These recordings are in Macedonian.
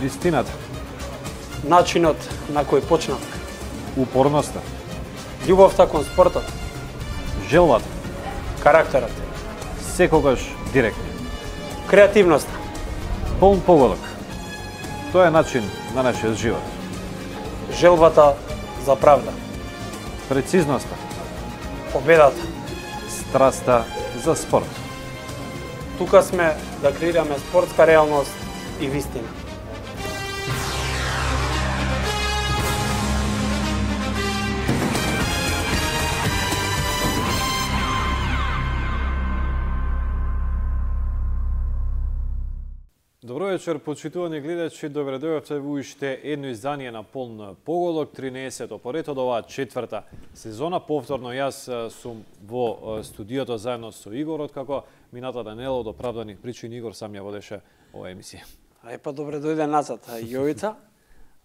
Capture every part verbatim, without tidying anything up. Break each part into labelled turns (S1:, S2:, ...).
S1: Вистината.
S2: Начинот на кој почнав.
S1: Упорноста.
S2: Љубовта кон спортот.
S1: Желбата.
S2: Карактерот.
S1: Секогаш директно.
S2: Креативноста.
S1: Полн погодок. Тоа е начин на нашиот живот.
S2: Желбата за правда.
S1: Прецизноста.
S2: Победата.
S1: Страста за спорт.
S2: Тука сме да креираме спортска реалност и вистина.
S1: Добро вечер, почитувани гледачи, добре дојавте во уште едно издание на Полн погодок, тринаесетто поред од оваа четврта сезона. Повторно јас сум во студиото заедно со Игор, откако минатата недела од оправдани причини Игор сам ја водеше оваа емисија.
S2: Ај па добре дојде назад, Јовица.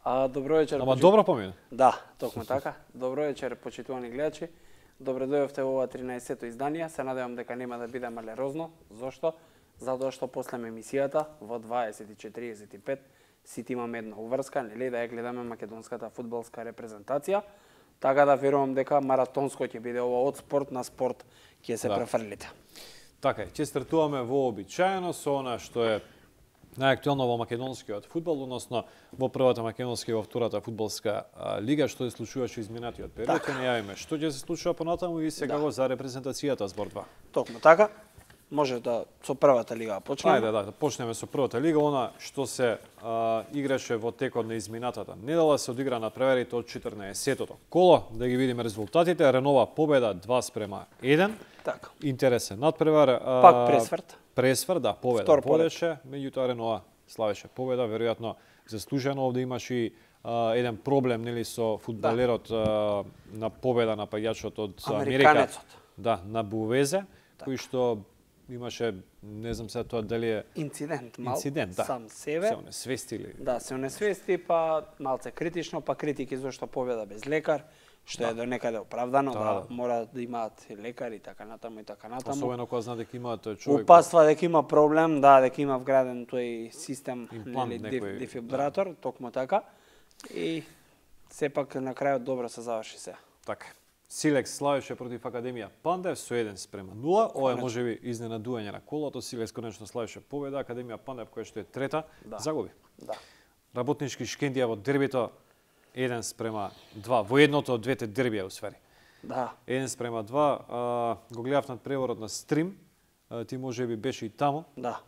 S2: А добро вечер.
S1: Ама добро помина.
S2: Да, токму така. Добро вечер, почитувани гледачи. Добре дојавте во ова тринаесетто издание. Се надевам дека нема да биде малерозно. Зошто? Затоа што после емисијата во дваесет и четиридесет и пет сите имаме една уврска, нели, да ја гледаме македонската фудбалска репрезентација. Така да верувам дека маратонско ќе биде ова од спорт на спорт ќе се да. префрлите.
S1: Така е, ќе стартуваме во обичаено со она што е најактуелно во македонскиот фудбал, односно во првата македонска и во втората фудбалска лига, што се случуваше изминатиот период. Ќе не јавиме што ќе се случува понатаму и сега да. за репрезентацијата збор два.
S2: Токму така. Може да со првата лига почнеме.
S1: Ајде, да, да почнеме со првата лига, она што се а, играше во текот на изминатата недела, се одигра на преверите од четрнаесеттото коло, да ги видиме резултатите. Ренова победа два спрема еден.
S2: Така.
S1: Интересен надпревар. А,
S2: Пак Пресврт.
S1: Пресврт, да, победа водеше, меѓутоа Ренова славеше победа, веројатно заслужено. Овде имаше и а, еден проблем, нели, со фудбалерот да. на победа на паѓачот од Америка. Да, на Бувезе, така. кој што имаше, не знам сега тоа дали е
S2: инцидент, мал,
S1: инцидент, да.
S2: сам себе.
S1: Се онесвестили.
S2: Да, се онесвести, па малце критично, па критики зашто победа без лекар, што да. е до некаде оправдано, да, да, да мора да имаат лекари и така натаму и така натаму.
S1: Особено кога знае дека имаат човек.
S2: Упаства дека има проблем, да, дека има вграден тој систем,
S1: имплант,
S2: нели,
S1: некој...
S2: дефибратор, да. токму така. И сепак на крајот добро се заврши се.
S1: Така. Силекс славеше против Академија Пандев со еден спрема нула. Ова е можеби изненадување на колото. Силекс конечно славеше победа. Академија Пандев, која што е трета, да. загуби.
S2: Да.
S1: Работнички Шкендија во дербито еден спрема два. Во едното од двете дербија усвари.
S2: Да.
S1: еден спрема два. А, го гледав над преворот на стрим. А, ти можеби беше и таму.
S2: Да.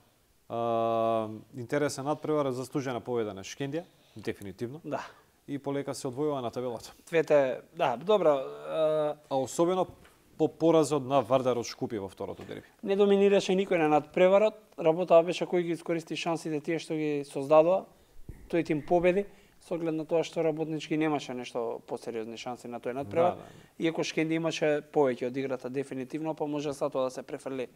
S1: А, интересен надпревар, заслужена победа на Шкендија, дефинитивно.
S2: Да.
S1: И полека се одвојува на табелата.
S2: Двете, да, добро.
S1: А, а особено по поразот на Вардар од Шкупје во второто дерби.
S2: Не доминираше никој на надпреварот. Работата беше кој ги искористи шансите тие што ги создадува. Тој тим победи, со оглед на тоа што Работнички немаше нешто посериозни шанси на тој надпревар. Да, да. Иако Шкенди имаше повеќе од играта дефинитивно, па може за тоа да се префрли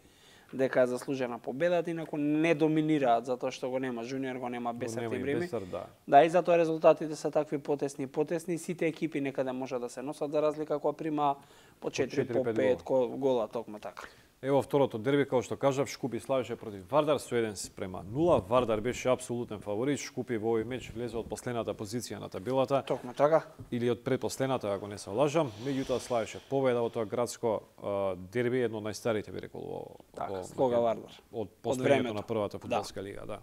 S2: дека е заслужена победата, инаку не доминираат затоа што го нема Жуниор, го нема Бесар Тибрими.
S1: Да.
S2: да, и затоа резултатите се такви потесни и потесни. Сите екипи некаде може да се носат за разлика кога прима по четири, по пет гола, токму така.
S1: Ево второто дерби, како што кажав, Шкупи славеше против Вардар со еден спрема нула. Вардар беше апсолутен фаворит. Шкупи во овој меч влезе од последната позиција на табелата.
S2: Токму така.
S1: Или од предпоследната, ако не се лажам. Меѓутоа славеше победа во тоа градско а, дерби, едно од најстарите би рекол во
S2: така, Слога Вардар.
S1: Од постојањето на првата фудбалска да. лига, да.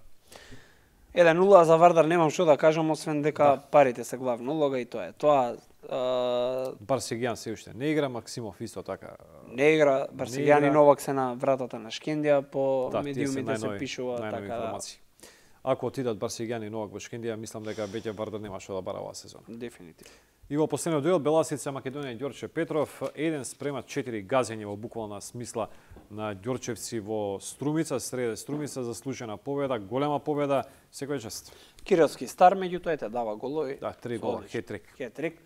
S2: еден нула за Вардар немам што да кажам, освен дека да. парите се главна улога и тоа е. Тоа Uh,
S1: Барсегјан се уште не игра, Максимов исто така.
S2: Не игра, Барсегјан и Новак се на вратата на Шкендија, по
S1: да,
S2: медиумите се пишува
S1: така информации. Да. Ако отидат Барсегјан и Новак во Шкендија, мислам дека веќе Вардар нема што да бара оваа сезона.
S2: Дефинитивно.
S1: И во последниот дуел Беласица Македонија и Ѓорче Петров еден спрема четири газење во буквална смисла на ѓорчевци во Струмица, среде Струмица, заслужена победа, голема победа, секој чест.
S2: Кирилски стар меѓутоа ете дава голови.
S1: Да, три гола, хет-трик.
S2: Хет-трик.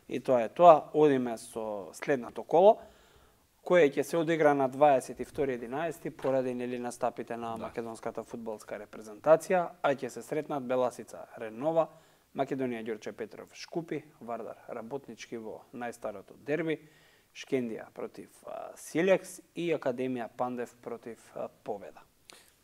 S2: И тоа е тоа. Одиме со следното коло, кое ќе се одигра на дваесет и втори единаесети поради нели настапите на да. македонската фудбалска репрезентација, а ќе се сретнат Беласица Ренова, Македонија Ѓорче Петров Шкупи, Вардар Работнички во најстарото дерби, Шкендија против Силекс и Академија Пандев против Победа.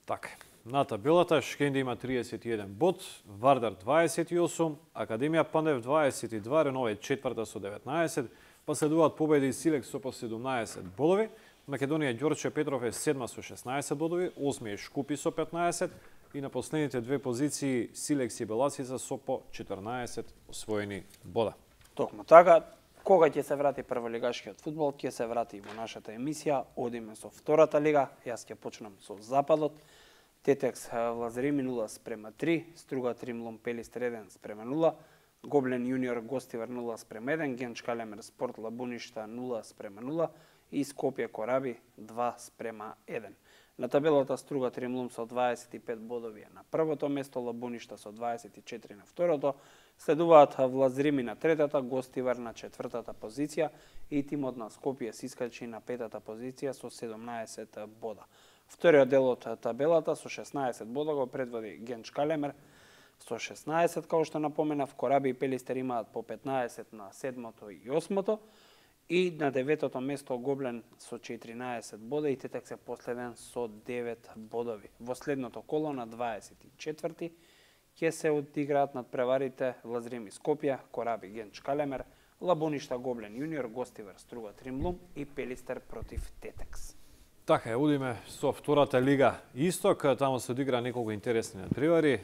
S1: Така. на табелата, Шкенди има триесет и еден бод, Вардар дваесет и осум, Академија Пандев дваесет и два, Ренове четврта со деветнаесет, па следуваат победи Силекс со по седумнаесет бодови, Македонија Ѓорче Петров е седма со шеснаесет бодови, осми е Шкупи со петнаесет и на последните две позиции Силекс и Беласица со по четрнаесет освоени бода.
S2: Токму така, кога ќе се врати прволигашкиот фудбал, ќе се врати во нашата емисија. Одиме со втората лига, јас ќе почнам со Западот. Тетекс Лазарими нула спрема три, Струга Тримлом Пелистер еден спрема нула, Гоблен Јуниор Гостивар нула спрема еден, Генч Калемер Спорт Лабуништа нула спрема нула и Скопје Кораби два спрема еден. На табелата Струга Тримлум со дваесет и пет бодови на првото место, Лабуништа со дваесет и четири на второто, следуваат Влазрими на третата, Гостивар на четвртата позиција и тимот на Скопје се искачи на петата позиција со седумнаесет бода. Вториот дел од табелата со шеснаесет бода го предводи Генч Калемер со шеснаесет, како што напоменав, Кораби и Пелистер имаат по петнаесет на седмото и осмото, и на деветото место Гоблен со четиринаесет бода и Тетекс е последен со девет бодови. Во следното коло на дваесет и четврти ќе се одиграат надпреварите Лазрими Скопје, Кораби Генч Калемер, Лабуништа Гоблен Јуниор, Гостивар Струга Тримлум и Пелистер против Тетекс.
S1: Така е, одиме со втората лига Исток, таму се одигра неколку интересни надпревари.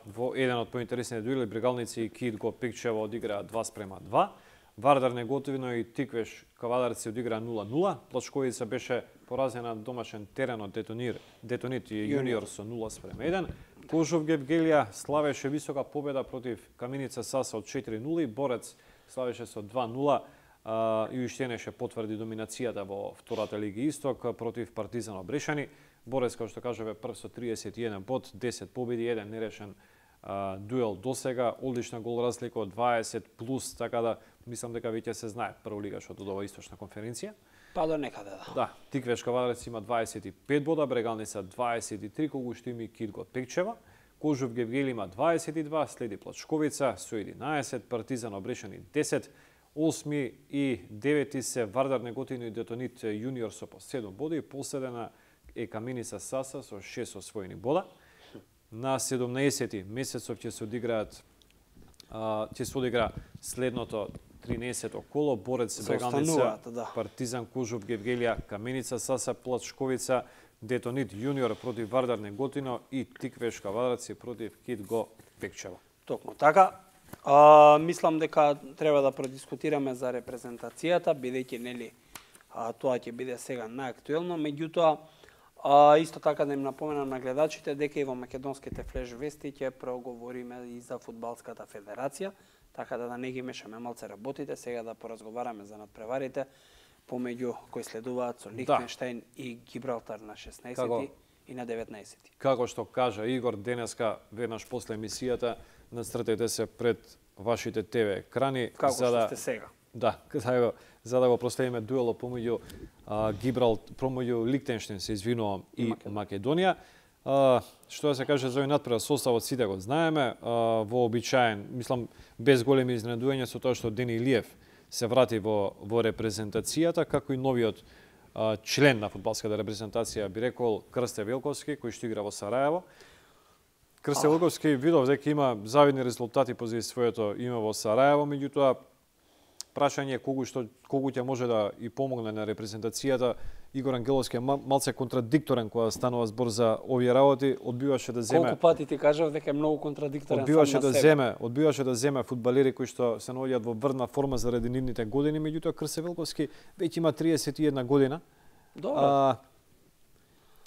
S1: Во еден од поинтересните дуели Брегалници и Кид го Пикчево одиграа два спрема два. Вардар Неготино и Тиквеш Кавадарци одиграа нула нула. Плачковица беше поразена на домашен терен од Детонир, Детонит и Јуниор со нула спрема еден. Кожов Гевгелија славеше висока победа против Каменица Саса од четири нула и Борец славеше со два нула. И уште неше потврди доминацијата во втората лига Исток против Партизан Обрешани. Борец, како што кажуве, прв со триесет и еден бод, десет победи, еден нерешен а, дуел досега, одлична гол разлика од дваесет плюс, така да мислам дека веќе се знае прволигашот од ова источна конференција.
S2: Па до некаде, да.
S1: Да, Тиквеш Кавадарец има дваесет и пет бода, Брегалница дваесет и три, кога што има Кид го Пекчева. Кожов Гевгели има дваесет и два, следи Плачковица со единаесет, Партизан Обрешани десет, осми и девети се Вардар Неготино и Детонит Јуниор со по седум бода и последена е Каменица Саса со шест освоени бода. На седумнаесети месецов ќе се одиграат ќе се одигра следното тринаесетто коло, Борец Брегалница,
S2: да.
S1: Партизан Кожов Гевгелија, Каменица Саса, Плачковица, Детонит Јуниор против Вардар Неготино и Тиквеш Кавадарци против Кид го Пекчево.
S2: Токму така. А, мислам дека треба да продискутираме за репрезентацијата, бидејќи нели а, тоа ќе биде сега најактуелно, меѓутоа а, исто така да им напоменам на гледачите дека и во македонските флеш вести ќе проговориме и за фудбалската федерација, така да да не ги мешаме малце работите, сега да поразговараме за надпреварите помеѓу кои следуваат со Лихтенштајн да. и Гибралтар на шеснаесети како, и на деветнаесети.
S1: Како што кажа Игор денеска веднаш после емисијата, настртете се пред вашите ТВ екрани
S2: како
S1: за да
S2: сте сега.
S1: Да, за, за да го проследиме дуелот помеѓу Гибралт, помеѓу Лихтенштајн, се извинувам, и Македонија. Македонија. А, што да се каже за овој надпревар, составот сите го знаеме, а, вообичаен, мислам без големи изненадувања со тоа што Дени Илиев се врати во во репрезентацијата, како и новиот а, член на фудбалската репрезентација, би рекол Крсте Велковски, кој што игра во Сараево. Крсте Велковски видов дека има завидни резултати позади своето име во Сараево, меѓутоа прашање колку што колку ќе може да и помогне на репрезентацијата. Игор Ангеловски е малце контрадикторен кога станува збор за овие работи, одбиваше да земе.
S2: Колку пати ти кажав дека е многу контрадикторен
S1: одбиваше
S2: сам на
S1: да
S2: себе.
S1: земе, одбиваше да земе фудбалери кои што се наоѓаат во врна форма заради нивните години, меѓутоа Крсте Велковски веќе има триесет и една година.
S2: Добро.
S1: А,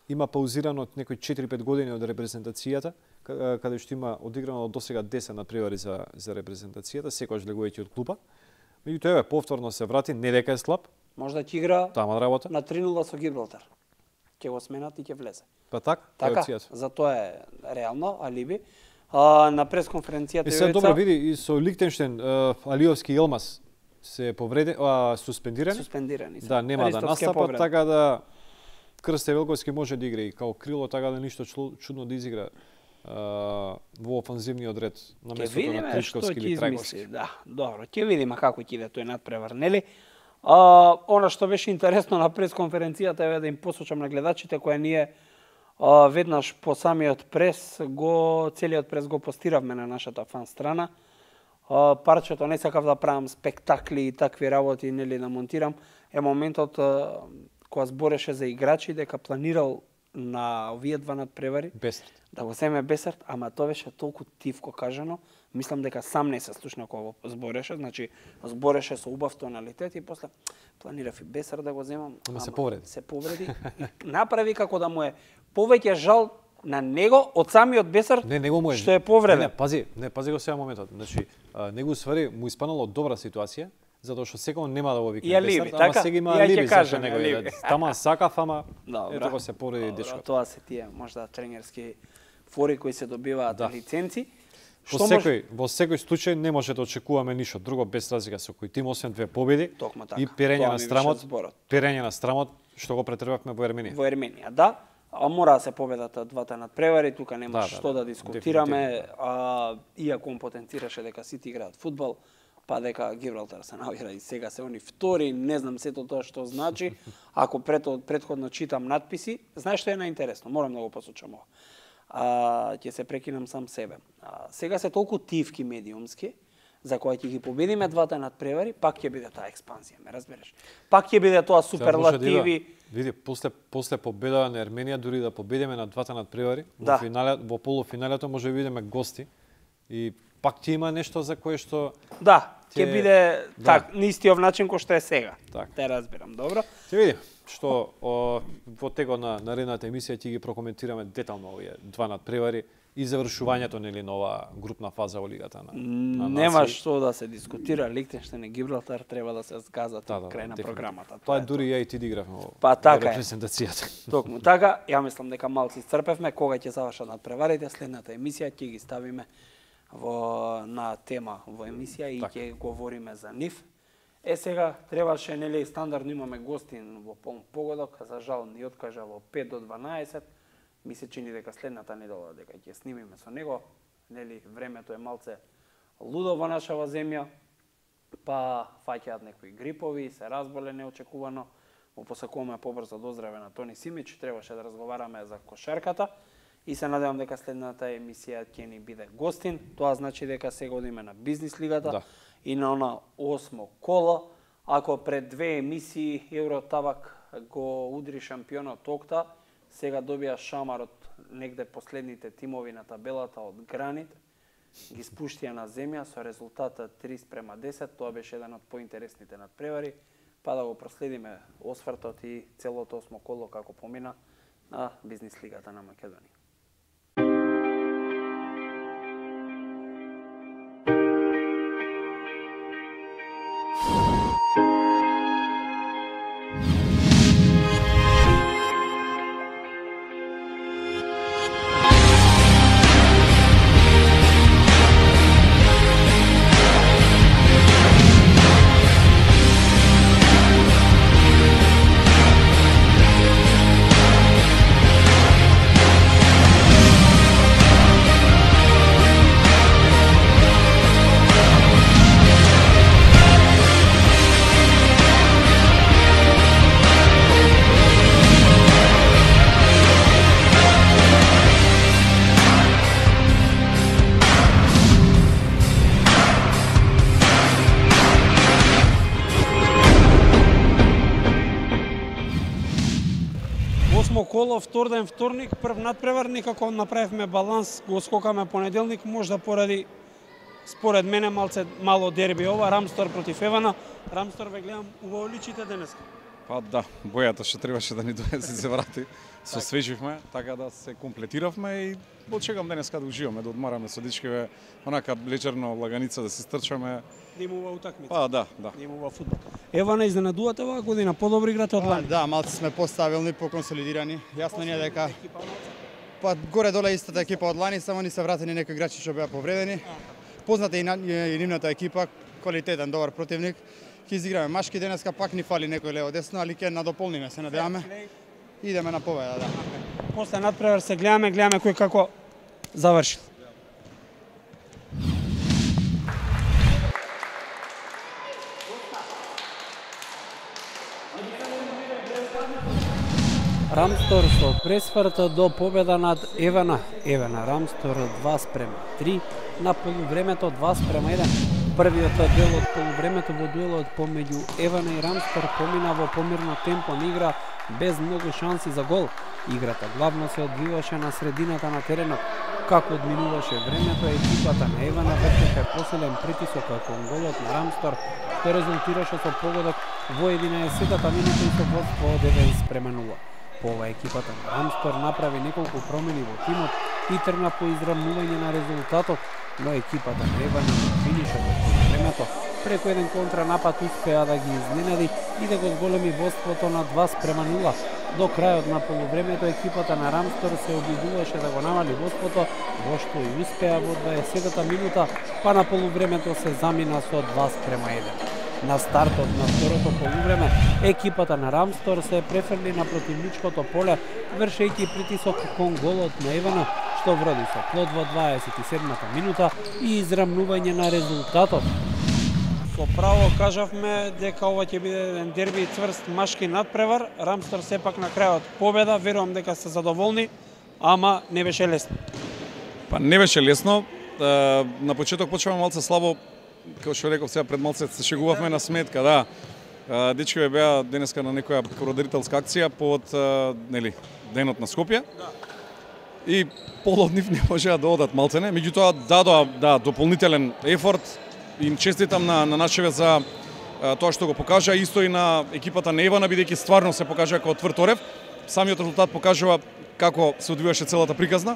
S1: има паузирано од некои четири-пет години од репрезентацијата, каде што има одиграно до сега десет напревари за за репрезентацијата, секогаш легувајќи од клуба. Меѓутоа еве повторно се врати, не дека е слаб.
S2: Може да ќе игра
S1: тама работа
S2: на три нула со Гибралтар. Ќе го сменат и ќе влезе.
S1: Па так,
S2: така, за тоа е реално алиби. А, на пресконференцијата
S1: и се добро види и со Лихтенштајн, Алиовски и Елмас се повреди, а, суспендирани.
S2: Суспендирани се.
S1: Да, нема да настапат, така да Крсте Велковски може да игра и као крило, така да ништо чудно да изигра Uh, во офанзивниот ред на местото на Тришковски или Трајковски.
S2: Да, добро, ќе видиме како ќе иде тој надпревар, нели? Uh, она што беше интересно на пресконференцијата е да им посочам на гледачите која ние А, веднаш по самиот прес, го, целиот прес го постиравме на нашата фан страна. А, парчето не сакав да правам спектакли и такви работи, нели да монтирам. Е моментот а, кога збореше за играчи, дека планирал на овие два надпревари
S1: Бесарт.
S2: Да го земе Бесарт, ама тоа беше толку тивко кажано. Мислам дека сам не се слушна кога го збореше, значи збореше со убав тоналитет и после планирав и Бесарт да го земам.
S1: Ама, ама се повреди.
S2: Се повреди. Направи како да му е повеќе жал на него од самиот Бесарт,
S1: не, него му е,
S2: што е повреден.
S1: Не, не, пази, не, пази го сега моментот. Значи, а, него ствари му испанало добра ситуација, затоа што секој нема да го вика Бесарт, ама
S2: така?
S1: сега има
S2: Ја
S1: алиби
S2: кажам,
S1: за него.
S2: алиби.
S1: Тама сакав, ама
S2: Добра.
S1: ето го се повреди
S2: Добра,
S1: дечкот.
S2: Тоа се тие можда тренерски фори кои се добиваат
S1: Да.
S2: лиценци.
S1: Во секој, во секој случај не може да очекуваме ништо друго без разлика со кој тим освен две победи
S2: Токму така.
S1: и перење
S2: Тоа
S1: на
S2: ми беше
S1: страмот,
S2: зборот.
S1: перење на страмот што го претрпевме во Ерменија.
S2: Во Ерменија, да. А мора да се победат двата надпревари, тука нема
S1: Да, да,
S2: што
S1: да,
S2: да дискутираме, а, иако он потенцираше дека сите играат фудбал, па дека Гибралтар се наоѓа и сега се они втори, не знам сето тоа што значи. Ако пред, предходно читам надписи, знаеш што е наинтересно, морам да го посочам ова. А, ќе се прекинам сам себе. А, сега се толку тивки медиумски, за која ќе ги победиме двата надпревари, пак ќе биде таа експанзија, ме разбереш? Пак ќе биде тоа суперлативи.
S1: Види, после после победа на Ерменија, дури да победиме на двата надпревари,
S2: Да.
S1: во финале, во полуфиналето може да бидеме гости и пак ќе има нешто за кое што
S2: Да, ќе
S1: Ќе-
S2: биде
S1: да.
S2: так, на истиот начин кој што е сега.
S1: Так.
S2: Те разбирам, добро.
S1: ќе видиме што о, во текот на наредната емисија ќе ги прокоментираме детално овие два надпревари и завршувањето нели на оваа групна фаза во лигата на, на
S2: Нема
S1: нации.
S2: што да се дискутира, Лихтенштейн и Гибралтар треба да се згазат
S1: Да, да,
S2: крај на
S1: дефинитивно.
S2: програмата.
S1: Тоа е
S2: е
S1: дури ја и ти дигравме во
S2: Па,
S1: во
S2: така е.
S1: репрезентацијата.
S2: Токму така, ја мислам дека малку исцрпевме, кога ќе завршат надпреварите, следната емисија ќе ги ставиме во на тема во емисија и
S1: Така.
S2: ќе говориме за нив. Е сега требаше нели стандардно имаме гостин во полн погодок, за жал ни откажа во пет до дванаесет. Ми се чини дека следната недела дека ќе снимиме со него, нели времето е малце лудо во нашава земја, па фаќаат некои грипови, се разболе неочекувано. Го посакуваме побрзо доздраве на Тони Симич, требаше да разговараме за кошарката и се надевам дека следната емисија ќе ни биде гостин. Тоа значи дека сега одиме на бизнис лигата
S1: Да.
S2: и на она осмо коло. Ако пред две емисии Евротабак го удри шампионот Окта, сега добија шамарот негде последните тимови на табелата од Гранит, ги спуштија на земја со резултатот три спрема десет, тоа беше еден од поинтересните надпревари, па да го проследиме освртот и целото осмо коло како помина на бизнис лигата на Македонија. Осмо коло, втор ден вторник, прв надпревар, некако направивме баланс, го скокаме понеделник, можда поради, според мене, малце мало дерби ова, Рамстор против Евана. Рамстор ве гледам, убаво личите денеска.
S3: Па да, бојата што требаше да ни донесе се врати, со свеживме, така да се комплетиравме и очекувам денеска да уживаме, да одмараме со дечкиве, онака леќерно лаганица да се стрчаме.
S2: Да имува утакмица.
S3: Па да, да.
S2: Да имува фудбал. Евана, изненадувате оваа година, подобри играте од
S4: Па,
S2: лани.
S4: да, малце сме постабилни, поконсолидирани. Јасно ни е дека па горе-доле истата екипа од лани, само ни се вратени некои играчи што беа повредени. Позната и, на, и нивната екипа, квалитетен, добар противник. Ќе изиграме машки денеска, пак ни фали некој лево десно, али ќе надополниме, се надеваме. Идеме на победа, да.
S2: После надпревар се гледаме, гледаме кој како завршил. Рамстор со пресврт до победа над Евана. Евана Рамстор два спрема три, на полувремето два спрема еден. Првиот дел од полувремето во дуелот помеѓу Евана и Рамстор помина во помирно темпо на игра без многу шанси за гол. Играта главно се одвиваше на средината на теренот. Како одминуваше времето, екипата на Евана вртеше посилен притисок кон голот на Рамстор, што резултираше со погодок во единаесеттата минута и со водство од еден спрема нула. По ова екипата на Рамстор направи неколку промени во тимот и тргна по изравнување на резултатот, но екипата на Евана во финишот од времето преку еден контранапад успеа да ги изненади и да го зголеми водството на два спрема нула. До крајот на полувремето екипата на Рамстор се обидуваше да го намали водството, во што и успеа во дваесеттата минута, па на полувремето се замина со два спрема еден. На стартот на второто полувреме, екипата на Рамстор се префрли на противничкото поле, вршејќи притисок кон голот на Евана, што вроди со плод во дваесет и седмата минута и израмнување на резултатот. Со право кажавме дека ова ќе биде еден дерби и цврст машки надпревар. Рамстор сепак на крајот победа, верувам дека се задоволни, ама не беше лесно.
S3: Па не беше лесно. На почеток почнавме малце слабо, како што реков сега пред малце се шегувавме на сметка, да. Дечкиве беа денеска на некоја природителска акција под нели денот на Скопје. И пол од нив не можеа да одат малцене, меѓутоа дадоа да дополнителен ефорт. Им честитам на, на Начеве за а, тоа што го покажа, исто и на екипата на Евана, бидејќи стварно се покажа како тврд орев. Самиот резултат покажува како се одвиваше целата приказна.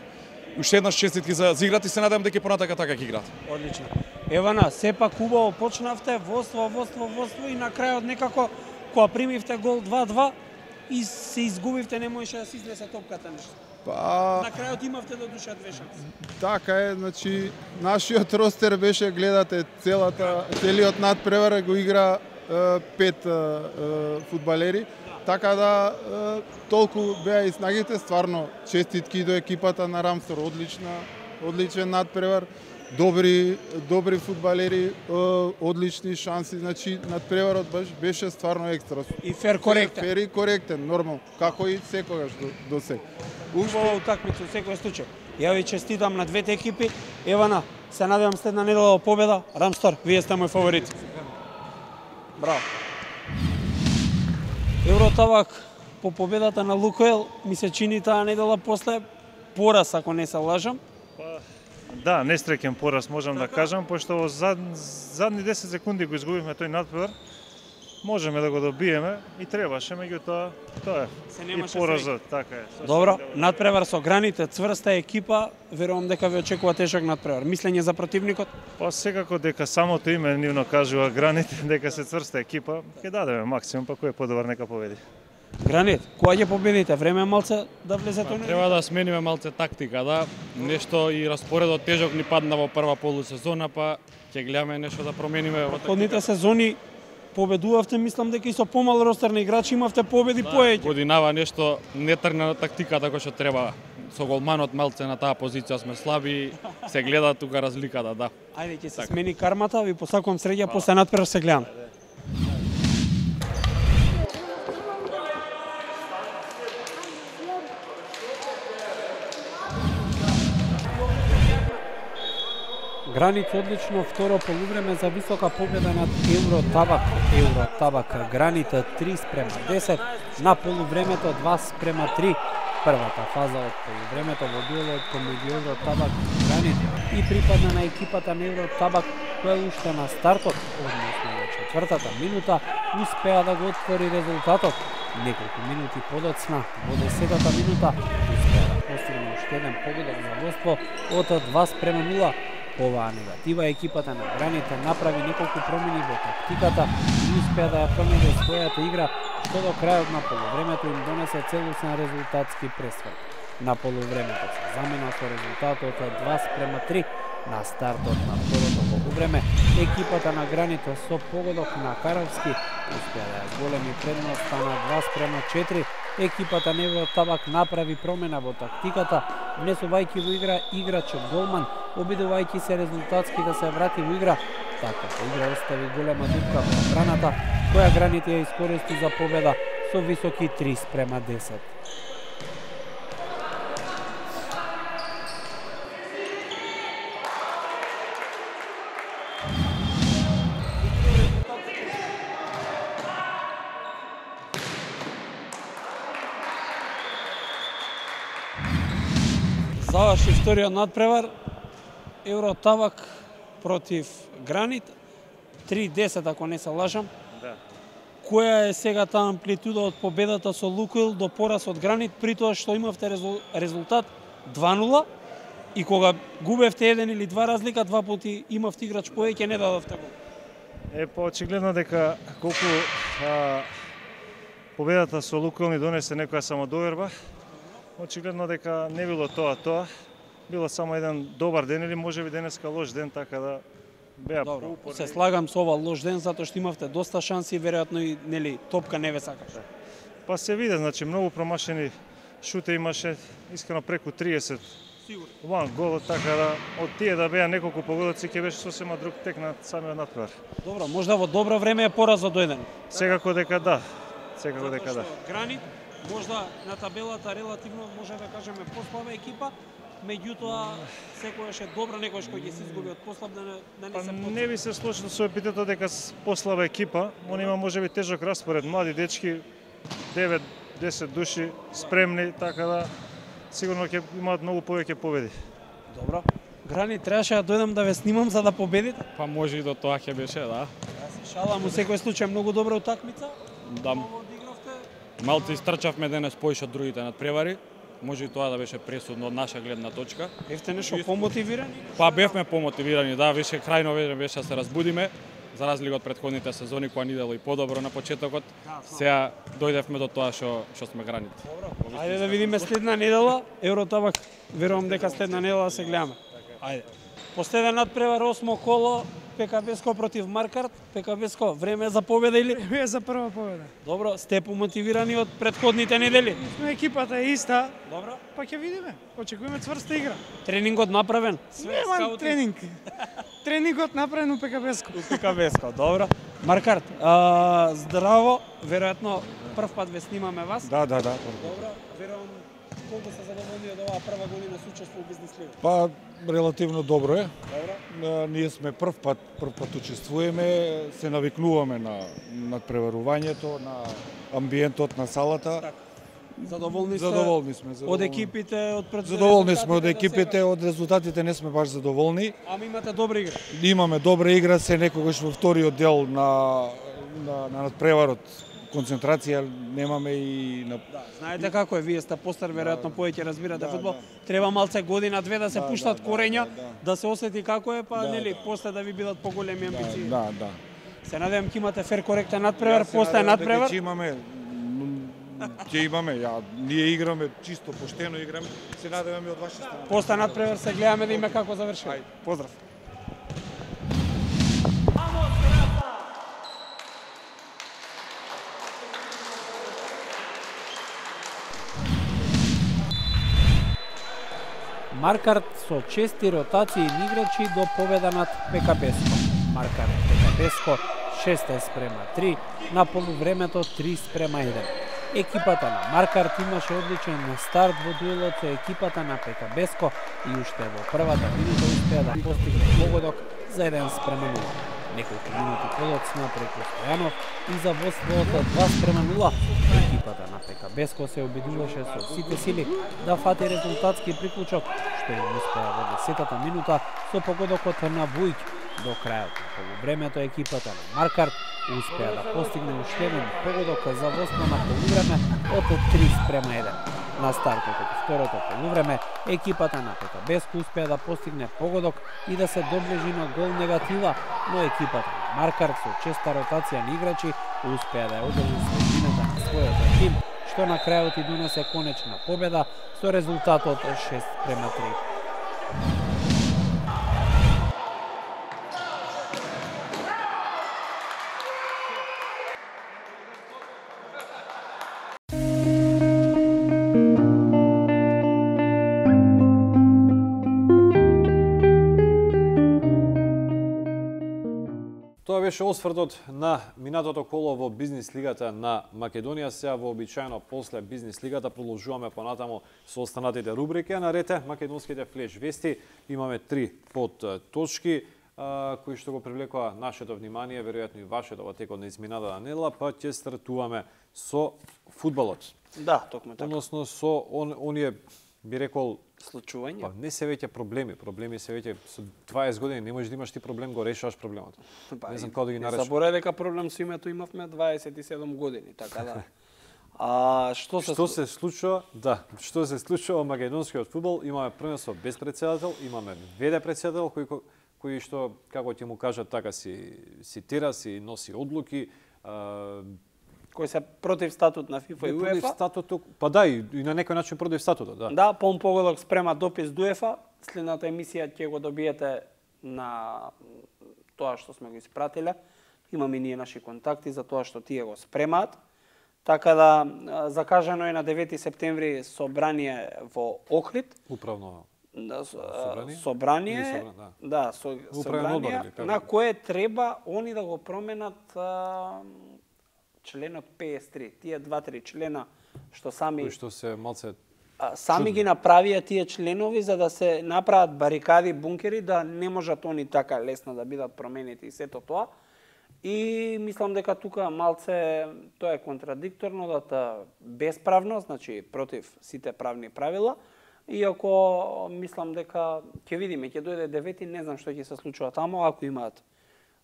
S3: Уште еднаш честитки за, за играта и се надевам дека понатака така ќе играат.
S2: Одлично. Евана, сепак убаво почнавте, водство, водство, водство и на крајот некако кога примивте гол два-два и се изгубивте, не можеше да се изнесе топката нешто.
S5: Па...
S2: На крајот имавте до душа две шанси.
S5: Така е, значи нашиот ростер беше, гледате, целата целиот надпревар го игра е, пет е, е, фудбалери. Така да е, толку беа и снагите, стварно честитки до екипата на Рамстор, одлична, одличен надпревар. Добри добри фудбалери, е, одлични шанси, значи надпреварот беше стварно екстра.
S2: И фер коректен.
S5: Фер и коректен, нормално, како и секогаш до, до сега.
S2: Убава утакмица во секој случај. Ја ви честитам на двете екипи. Евана, се надевам следна недела во победа. Рамстор, вие сте мој фаворит. Браво. Евротабак по победата на Лукоел ми се чини таа недела после пораз, ако не се лажам.
S6: Да, несреќен пораз можам така да кажам, пошто во зад, задни десет секунди го изгубивме тој надпревар. Можеме да го добиеме и требаше, меѓутоа тоа е. И поразот, така е.
S2: Добро, надпревар со граните, цврста екипа, верувам дека ви очекува тешок надпревар. Мислење за противникот?
S6: Па секако дека самото име нивно кажува граните, дека се цврста екипа, ќе дадеме максимум, па кој е подобар нека победи.
S2: Гранит, кога ќе победите? Време малце да влезете
S7: па, треба да смениме малце тактика, да. Нешто и распоредот тежок ни падна во прва полусезона, па ќе гледаме нешто да промениме во
S2: тактика. сезони победувавте, мислам дека и со помал ростер на играчи имавте победи
S7: да,
S2: поеќе.
S7: Годинава нешто не тргна на тактиката кој што треба. Со голманот малце на таа позиција сме слаби, се гледа тука разликата, да.
S2: Ајде ќе се так. Смени кармата, ви посакувам среќа, после надпревар се гледам. Границ одлично второ полувреме за висока победа над Евротабак. Евротабак Граница три спрема десет, на полувремето два спрема три. Првата фаза од полувремето во дуелот помеѓу Евротабак и Граница и припадна на екипата на Евротабак, која уште на стартот, односно во четвртата минута, успеа да го отвори резултатот. Неколку минути подоцна, во десетата минута, успеа да постигне уште еден погодок за водство од два спрема нула. Оваа негатива екипата на Граница направи неколку промени во тактиката и успеа да ја промени својата игра, што до крајот на полувремето им донесе целосен резултатски пресврт. На полувремето се замена со резултатот од два спрема три. На стартот на второто полувреме, екипата на Граница со погодок на Каровски успеа да ја зголеми предноста на два спрема четири. Екипата на Евротабак направи промена во тактиката, внесувајќи во игра играч голман, обидувајќи се резултатски да се врати во игра. Таквата игра остави голема дупка во одбраната, која Граница ја искористи за победа со високи три спрема десет. Заврши вториот надпревар. Евротавак против Гранит. три десет ако не се лажам.
S6: Да.
S2: Која е сега таа амплитуда од победата со Лукойл до пораз од Гранит, при тоа што имавте резултат два нула и кога губевте еден или два разлика, два пати имавте играч повеќе, не дадовте гол.
S6: Е, па очигледно дека колку а, победата со Лукойл ни донесе некоја самодоверба, очигледно дека не било тоа тоа, било само еден добар ден или можеби денеска лош ден, така да беа
S2: Добро,
S6: поупорни.
S2: се слагам со ова лош ден затоа што имавте доста шанси, веројатно и нели топка не ве сакаше.
S6: Па се виде, значи многу промашени шуте имаше, искрено преку триесет.
S2: Сигурно.
S6: Ван гол, така да од тие да беа неколку погодоци ќе беше сосема друг тек на самиот надпревар.
S2: Добро, можда во добро време е поразот дојден.
S6: Секако дека да. Секако дека да.
S2: Затоа што Гранит можда на табелата релативно може да кажеме послаба екипа, меѓутоа секојаш е добра, некојаш кој ќе се изгуби од послаб да не, да не
S6: Па
S2: се потреби.
S6: не би се слошил со епитетот дека с послаба екипа, он има можеби тежок распоред, млади дечки, девет десет души спремни, така да сигурно ќе имаат многу повеќе победи.
S2: Добро. Гранит требаше да дојдам да ве снимам за да победите.
S7: Па може и до тоа ќе беше, да.
S2: Јас се шалам, у секој случај многу добра утакмица.
S7: Да,
S2: Ово одигравте.
S7: малку истрчавме денес поише од другите надпревари. Може и тоа да беше пресудно од наша гледна точка.
S2: Бевте нешто помотивирани?
S7: Па бевме помотивирани, да, више крајно време беше да се разбудиме, за разлика од претходните сезони кога ни дело и подобро на почетокот. Сега дојдевме до тоа што што сме Гранит.
S2: Добро. Ајде да видиме следна недела. Евротабак, верувам дека следна недела се гледаме. Ајде. Последен надпревар, осмо коло, ПКБСко против Маркарт. ПКБСко, време е за победа или?
S8: Време е за прва победа.
S2: Добро, сте помотивирани од претходните недели?
S8: Екипата е иста,
S2: Добро.
S8: па ќе видиме. Очекуваме цврста игра.
S2: Тренингот направен?
S8: Нема
S2: скаутинг?
S8: тренинг. Тренингот направен у ПКБСко.
S2: У ПКБСко, добро. Маркарт, а, здраво, веројатно прв пат ве снимаме вас.
S9: Да, да, да.
S2: Добро, верувам колку се задоволни од оваа прва година со учество во бизнес лига?
S9: Па релативно добро е.
S2: Добро.
S9: А, Ние сме прв пат, прв пат учествуваме, се навикнуваме на надпреварувањето, на амбиентот на салата.
S2: Така. Задоволни сте?
S9: Задоволни сме,
S2: Од
S9: задоволни.
S2: екипите, од пред
S9: Задоволни сме од
S2: резултатите до
S9: екипите,
S2: сега?
S9: од резултатите не сме баш задоволни.
S2: Ама имате добра игра.
S9: Имаме добра игра, се некогаш во вториот дел на на, на надпреварот концентрација немаме и на
S2: Да, знаете како е, вие сте постар, веројатно повеќе разбирате
S9: да,
S2: фудбал.
S9: да.
S2: Треба малце година две да се
S9: Да,
S2: пуштат
S9: да,
S2: корења,
S9: да, да.
S2: да се осети како е, па
S9: Да,
S2: нели,
S9: да.
S2: после да ви бидат поголеми амбиции.
S9: да, да.
S2: Се надевам ќе имате фер коректен надпревар,
S9: Јас се
S2: после
S9: надевам дека
S2: надпревар.
S9: Ќе имаме м, ќе имаме, ја ние играме чисто поштено играме. Се надеваме од ваша страна.
S2: После надпревар се гледаме да име како завршува. Поздрав. Маркарт со чести ротации на играчи до победа над ПКБСко. Маркарт ПКБСко шест спрема три, на полувремето три спрема еден. Екипата на Маркарт имаше одличен старт во дуелот со екипата на ПКБСко и уште во првата минута успеа да постигне погодок за еден спрема нула. Неколку минути подоцна преку Стојанов и за водството два спрема нула, екипата на ПКБСко се обидуваше со сите сили да фати резултатски приклучок, што им успеа во десетата минута со погодокот на Вујќ. До крајот на полувремето екипата на Маркарт успеа да постигне уште еден погодок за водство на полувреме од три спрема еден. На стартот од второто полувреме, екипата на ПКБСко успеа да постигне погодок и да се доближи на гол негатива, но екипата на Маркарт со честа ротација на играчи успеа да ја одржи средината на својот тим, што на крајот и донесе конечна победа со резултатот шест спрема три.
S1: Тоа беше освртот на минатото коло во бизнес лигата на Македонија. Сега вообичаено после бизнес лигата продолжуваме понатамо со останатите рубрики. А нарете македонските флеш вести. Имаме три под точки кои што го привлекува нашето внимание, веројатно и вашето во текот на изминатата недела, па ќе стартуваме со фудбалот.
S2: Да, токму така.
S1: Односно со он, оние би рекол
S2: случување.
S1: Па не се веќе проблеми, проблеми се веќе со дваесет години не можеш да имаш ти проблем, го решаваш проблемот.
S2: Па,
S1: не знам како да ги наречам.
S2: Заборај дека проблем со името имавме дваесет и седум години, така да. А што се
S1: што се случува? Да, што се случува во македонскиот фудбал? Имаме првенство без претседател, имаме веде претседател кој кој што како ќе му кажат така си си тера, си носи одлуки, а,
S2: кои се против статут на ФИФА и УЕФА.
S1: Против статутот, па да, и, и на некој начин против статутот, да.
S2: Да, Пон Погодок спрема допис до УЕФА. Следната емисија ќе го добиете на тоа што сме го испратиле. Имаме и ние наши контакти за тоа што тие го спремаат. Така да, закажано е на девети септември собрание во Охрид.
S1: Управно
S2: да,
S1: собрание,
S2: собрание
S1: собрание да,
S2: да со, собрание одбор, на кое треба они да го променат а, членот петдесет и три. Тие два-три члена што сами
S1: кои што се малце
S2: а, сами чудни ги направија тие членови за да се направат барикади, бункери, да не можат они така лесно да бидат променети и сето тоа. И мислам дека тука малце тоа е контрадикторно, да та бесправно, значи против сите правни правила. Иако мислам дека ќе видиме, ќе дојде девети, не знам што ќе се случува таму, ако имаат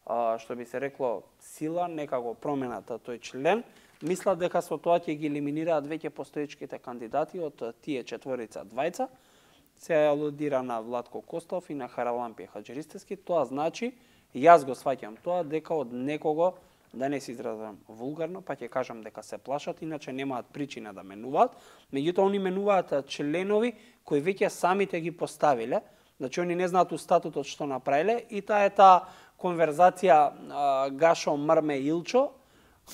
S2: а, што би се рекло сила, нека го променат тој член. Мислам дека со тоа ќе ги елиминираат веќе постоечките кандидати од тие четворица двајца. Се алудира на Владко Костов и на Харалампија Хаџиристевски. Тоа значи, јас го сваќам тоа дека од некого, да не се изразам вулгарно, па ќе кажам дека се плашат, иначе немаат причина да менуваат. Меѓутоа, они менуваат членови кои веќе самите ги поставиле, значи они не знаат у статутот што направиле, и таа е таа конверзација а, Гашо, Мрме, Илчо,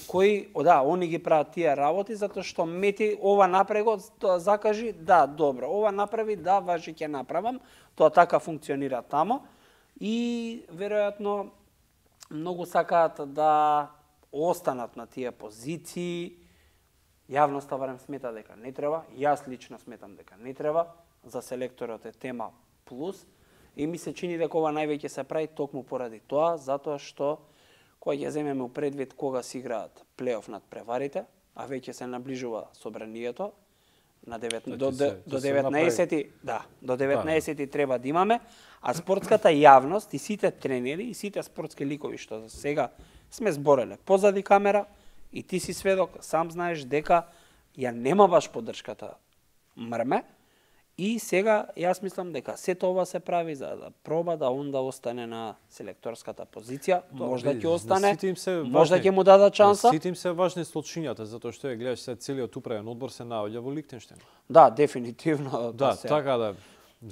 S2: кои, о, да, они ги прават тие работи, затоа што Мети ова напрего закажи, да, добро, ова направи, да, важи ќе направам, тоа така функционира тамо, и веројатно многу сакаат да останат на тие позиции. Јавноста барем смета дека не треба, јас лично сметам дека не треба, за селекторот е тема плюс, и ми се чини дека ова највеќе се прави токму поради тоа, затоа што кога ќе земеме у предвид кога се играат плейоф над преварите, а веќе се наближува собранието, на девет, да, до, се, до деветнаесети, да, до деветнаесети да, треба да имаме, а спортската јавност и сите тренери и сите спортски ликови што сега сме збореле позади камера, и ти си сведок, сам знаеш дека ја нема баш поддршката Мрме, и сега јас мислам дека сето ова се прави за да проба да он да остане на селекторската позиција, то, можда ќе остане, можда ќе му дадат шанса.
S1: Сите им се важни случињата, затоа што ја гледаш се целиот управен одбор се наоѓа во Лихтенштеин.
S2: Да, дефинитивно.
S1: Да,
S2: се...
S1: така да.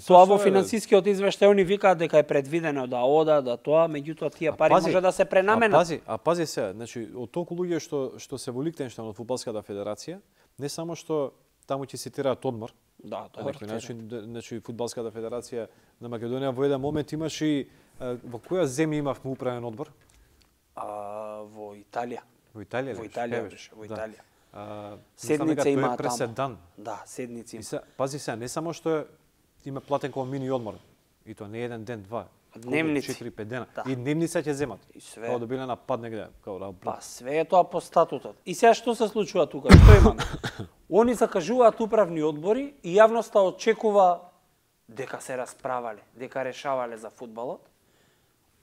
S2: Тоа во финансискиот извештај они викаат дека е предвидено да ода, да тоа, меѓутоа тие пари пази, може да се пренаменат.
S1: А пази, а пази се, значи од толку луѓе што што се во Лихтенштеин од фудбалската федерација, не само што таму ќе цитираат одмор.
S2: Да,
S1: тоа е начин, значи фудбалската федерација на Македонија во еден момент имаше и во која земја имавме управен одбор?
S2: А, во Италија.
S1: Во Италија.
S2: Во Италија беше, во Италија.
S1: Да.
S2: Седница има
S1: таму.
S2: Да, седници има.
S1: Се, пази се, не само што има платен како мини одмор, и тоа не еден ден, два.
S2: Дневници.
S1: четири-пет дена.
S2: Да.
S1: И дневница ќе земат.
S2: И све.
S1: Као да биле на пад негде. Као да...
S2: Па све е тоа по статутот. И сега што се случува тука? Што имаме? Они закажуваат управни одбори и јавноста очекува дека се расправале, дека решавале за фудбалот.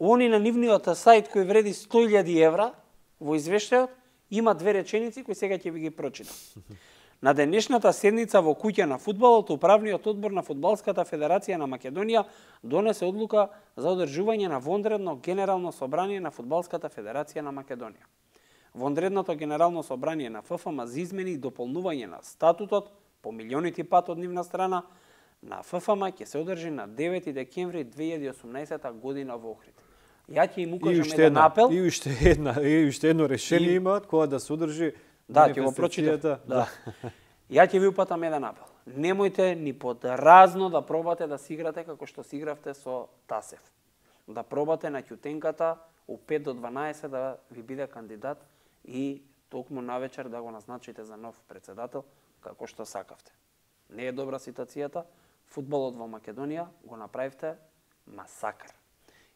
S2: Они на нивниот сајт кој вреди сто илјади евра во извештајот има две реченици кои сега ќе ви ги прочитам. На денешната седница во куќа на фудбалот, управниот одбор на Фудбалската федерација на Македонија донесе одлука за одржување на вонредно генерално собрание на Фудбалската федерација на Македонија. Вонредното генерално собрание на ФФМ за измени и дополнување на статутот по милионити пат од нивна страна на ФФМ ќе се одржи на девети декември две илјади и осумнаесета година во Охрид. Ја ќе им укажам еден апел.
S1: И уште една, и уште едно решение и... имаат кога да се одржи.
S2: Да, ќе го прочитам. Да. Ја ќе ви упатам еден апел. Немојте ни под разно да пробате да си играте како што си игравте со Тасев. Да пробате на ќутенката у пет до дванаесет да ви биде кандидат и токму навечер да го назначите за нов председател како што сакавте. Не е добра ситуацијата. Фудбалот во Македонија го направивте масакр.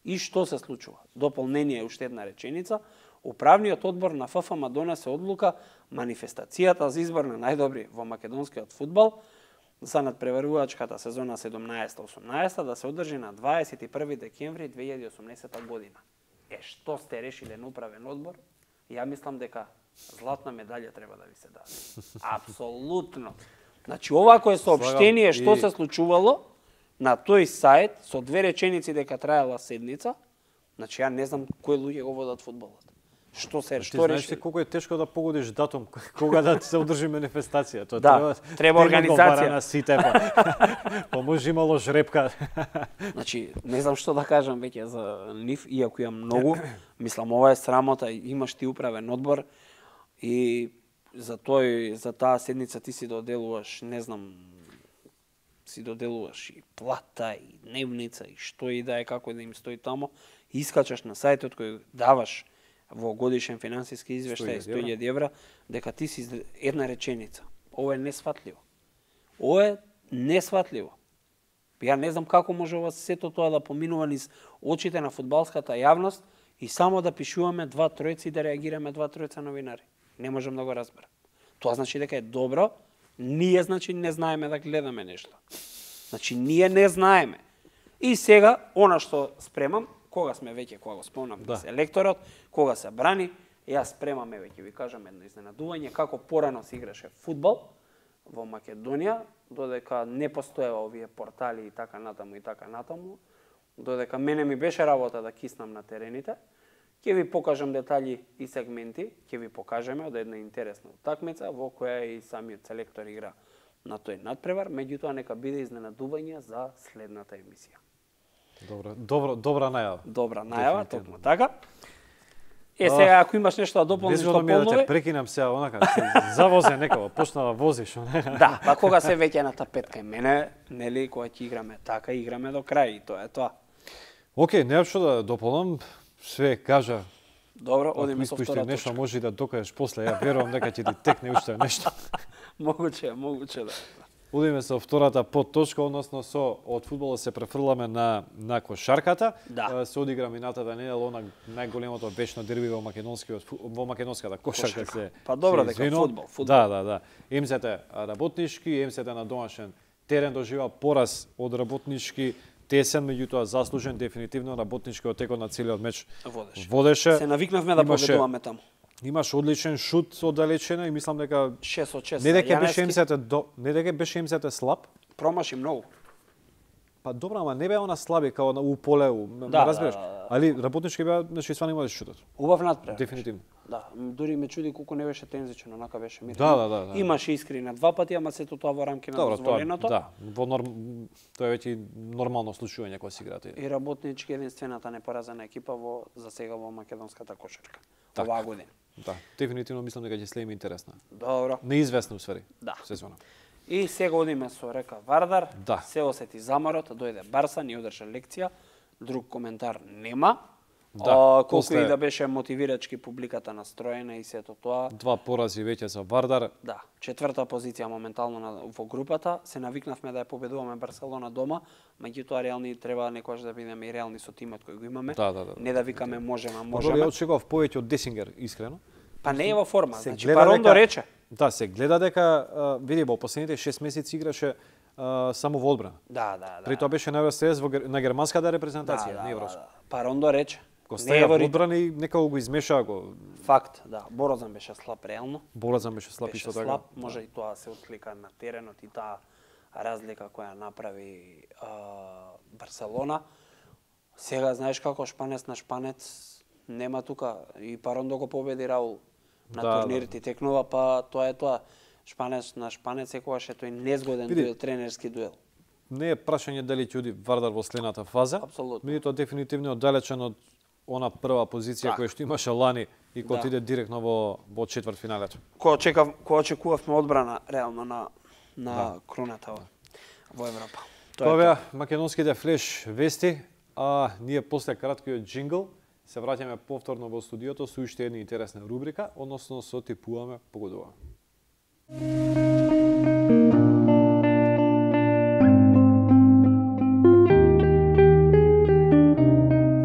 S2: И што се случува? Дополнение уште една реченица. Управниот одбор на ФФМ донесе одлука манифестацијата за избор на најдобри во македонскиот фудбал за надпреварувачката сезона седумнаесета осумнаесета да се одржи на дваесет и први декември две илјади и осумнаесета година. Е, што сте решиле на управен одбор? Ја мислам дека златна медалја треба да ви се даде. Апсолутно. Значи, овако е соопштение што се случувало на тој сајт со две реченици дека траела седница. Значи, ја не знам кои луѓе го водат фудбалот. Што се, што реши?
S1: Знаеш колку е тешко да погодиш датум кога да се одржи манифестација. Тоа
S2: да,
S1: треба
S2: треба организација
S1: на сите, па. Па може имало жрепка.
S2: Значи, не знам што да кажам веќе за нив, иако имам многу. Мислам, ова е срамота, имаш ти управен одбор и за тој, за таа седница ти си доделуваш, не знам, си доделуваш и плата, и дневница, и што и да е, како да им стои тамо. Искачаш на сајтот кој даваш во годишен финансиски извештај сто илјади евра, дека ти си една реченица. Ова е несватливо. Ова е несватливо. Ја не знам како може ова сето тоа да поминува низ очите на фудбалската јавност и само да пишуваме два тројци и да реагираме два тројца новинари. Не можам да го разберам. Тоа значи дека е добро, ние значи не знаеме да гледаме нешто. Значи ние не знаеме. И сега, она што спремам, кога сме веќе, кога го спомнам, да. Селекторот, кога се брани, јас спремаме веќе, ви кажам едно изненадување, како порано се играше фудбал во Македонија, додека не постоева овие портали и така натаму и така натаму, додека мене ми беше работа да киснам на терените, ќе ви покажам детали и сегменти, ќе ви покажеме од една интересна утакмица во која и самиот селектор игра на тој надпревар, меѓутоа нека биде изненадување за следната емисија.
S1: Добра, добра, добра најава.
S2: Добра најава, токму така. Е, сега, ако имаш нешто да дополниш, што
S1: полнови... да те прекинам сега, онака, завозе некоја, почна да возиш.
S2: Да, па кога се веќе на тапетка и мене, нели, кога ќе играме така, играме до крај и тоа е тоа.
S1: Океј, немам што да дополнам, све кажа.
S2: Добро, одиме со втора точка.
S1: Нешто може да докажеш после, ја верувам дека ќе ти текне уште нешто.
S2: Могуче, могуче да.
S1: Одиме со втората подточка, односно со од фудбалот се префрламе на на кошарката.
S2: Да.
S1: Се одигра минатата недела она најголемото вечно дерби во македонскиот во македонската кошарка, кошарка. се.
S2: Па добро дека фудбал, фудбал.
S1: Да, да, да. МСТ работнички, МСТ на домашен терен дожива пораз од работнички тесен, меѓутоа заслужен, дефинитивно работничкиот текот на целиот меч
S2: водеше.
S1: водеше.
S2: Се навикнавме да победуваме таму.
S1: Имаш одличен шут од далечина и мислам дека
S2: шест од шест.
S1: Не дека беше МСТ до, не дека беше МСТ слаб.
S2: Промаши многу.
S1: Па добро, ама не беа она слаби као у поле,
S2: да,
S1: разбираш.
S2: Да, да, да.
S1: Али работнички беа, значи стварно имале шутот.
S2: Убав надпревар.
S1: Дефинитивно.
S2: Да, дури ме чуди колку не беше тензичен, онака беше мирен.
S1: Да, да, да, да.
S2: Имаше искри на два пати, ама сето тоа во рамки на дозволеното.
S1: Да, во норм тоа е веќе нормално случување кога се играат.
S2: И работнички единствената непоразена екипа во за сега во македонската кошарка. Оваа година.
S1: Да, дефинитивно мислам дека ќе следиме интересна.
S2: Добро.
S1: Неизвестно усвари.
S2: Да.
S1: Сезона.
S2: И сега одиме со Река Вардар.
S1: Да.
S2: Се осети заморот, дојде Барса, ни одржа лекција. Друг коментар нема. Да, а, колку после... и да беше мотивирачки публиката настроена и сето тоа.
S1: Два порази веќе за Вардар.
S2: Да, четврта позиција моментално на, во групата. Се навикнавме да ја победуваме Барселона дома, меѓутоа реални треба некогаш да бидеме и реални со тимот кој го имаме.
S1: Да, да, да.
S2: Не да викаме можеме, можеме.
S1: Добро, ја очекував повеќе од Десингер, искрено.
S2: Па не е во форма, се значи Парондо дека... рече.
S1: Да, се гледа дека види во последните шест месеци играше а, само во одбрана.
S2: Да, да, да.
S1: При тоа беше на ВСС во на германската репрезентација,
S2: да,
S1: не
S2: да,
S1: европска.
S2: Да, да. Парондо рече.
S1: Го стаја во одбрана и некако го измеша го.
S2: Факт, да. Борозан беше слаб реално.
S1: Борозан беше слаб
S2: беше
S1: исто така.
S2: Слаб, може да. И тоа се отклика на теренот и таа разлика која направи а, Барселона. Сега знаеш како шпанец на шпанец нема тука и Парондо го победи Раул на да, турнирите да. Текнува, па тоа е тоа. Шпанец на шпанец секогаш е тој незгоден Види, дуел, тренерски дуел.
S1: Не е прашање дали ќе оди Вардар во следната фаза.
S2: Апсолутно.
S1: Меѓутоа дефинитивно оддалечен од она прва позиција која што имаше лани и кој да. Иде директно во во четвртфиналето.
S2: Кој очекав, кој очекувавме одбрана реално на на да. Кроната во, во Европа.
S1: Тоа беа македонските флеш вести, а ние после краткиот джингл се враќаме повторно во студиото со уште една интересна рубрика, односно со типуваме, погодуваме.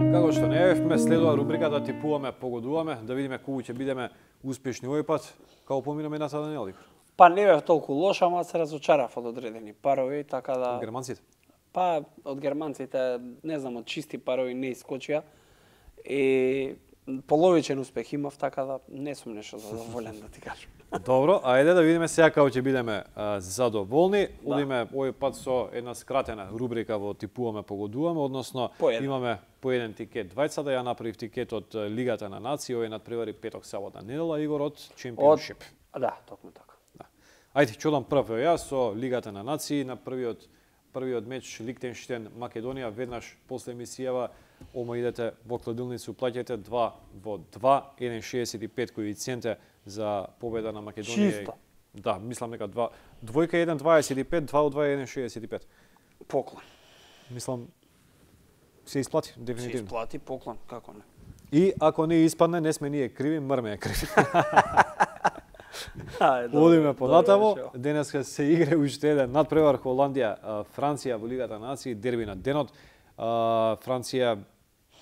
S1: Како што најавивме, следува рубриката Типуваме, погодуваме, да видиме колку ќе бидеме успешни овој пат, како поминаме на таа недела.
S2: Па не бев толку лош, ама се разочарав од одредени парови, така да...
S1: Од германците?
S2: Па, од германците, не знам, од чисти парови не искочија. И половичен успех имав, така да не сум нешто задоволен, да ти кажам.
S1: Добро, ајде да видиме сега како ќе бидеме а, задоволни. Да. Одиме овој пат со една скратена рубрика во типуваме, погодуваме, односно по имаме по еден тикет двајца, да ја направив тикет од Лигата на нации, овој надпревари петок, сабота, недела, Игор од Championship.
S2: Од... Да, токму така.
S1: Да. Ајде, ќе одам прв јас со Лигата на нации на првиот првиот меч Лихтенштейн Македонија, веднаш после емисијава ома идете во кладилницу, плаќате два во два, еден шеесет и пет коефициенте за победа на Македонија.
S2: Чисто.
S1: Да, мислам дека два двојка еден дваесет и пет, два од два еден шеесет и пет.
S2: Поклон.
S1: Мислам се исплати дефинитивно.
S2: Се исплати поклон, како не.
S1: И ако не испадне, не сме ние криви, мрме е криви. Одиме понатамо. Денеска се игра уште еден надпревар Холандија, Франција во Лигата на нации, дерби на денот. Франција